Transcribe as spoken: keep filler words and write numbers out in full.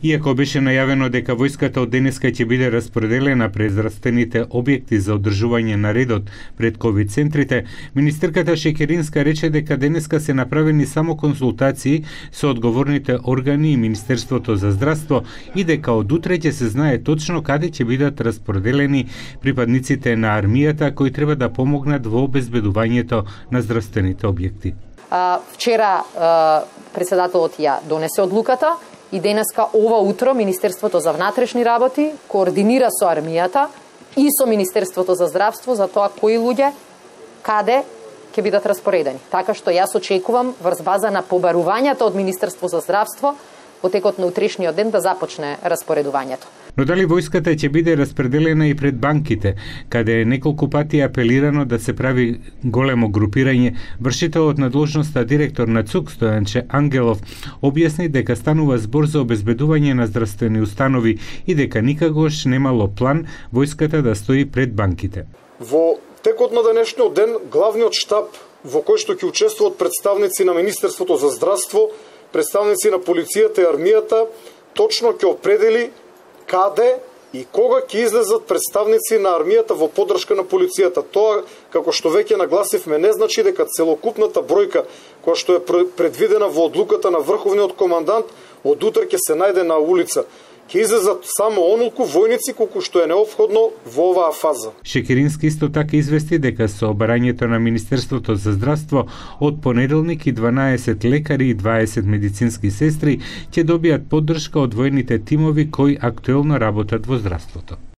Иако беше најавено дека војската од денеска ќе биде распределена пред здравствените објекти за одржување на редот пред ковид центрите, министерката Шекеринска рече дека денеска се направени само консултации со одговорните органи и Министерството за здравство и дека од утре ќе се знае точно каде ќе бидат распределени припадниците на армијата кои треба да помогнат во обезбедувањето на здравствените објекти. А, вчера а, председателот ја донесе одлуката и денеска ова утро Министерството за внатрешни работи координира со армијата и со Министерството за здравство за тоа кои луѓе каде ќе бидат распоредени. Така што јас очекувам врз база на побарувањата од Министерство за здравство во текот на утрешниот ден да започне распоредувањето. Но дали војската ќе биде распределена и пред банките, каде неколку пати е апелирано да се прави големо групирање, вршителот на дложноста директор на ЦУК Стојанче Ангелов објасни дека станува збор за обезбедување на здравствени установи и дека никогаш немало план војската да стои пред банките. Во текот на денешниот ден главниот штаб во кој што ќе учествуваат представници на Министерството за здравство, представници на полицијата и армијата, точно ќе определи каде и кога ќе излезат представници на армијата во поддршка на полицијата. Тоа, како што веќе нагласивме, не значи дека целокупната бројка која што е предвидена во одлуката на врховниот командант од утре ќе се најде на улица. Ќе излезат само онолку војници колку што е неопходно во оваа фаза. Шекерински исто така извести дека со барањето на Министерството за здравство од понеделник и дванаесет лекари и дваесет медицински сестри ќе добијат поддршка од војните тимови кои актуелно работат во здравството.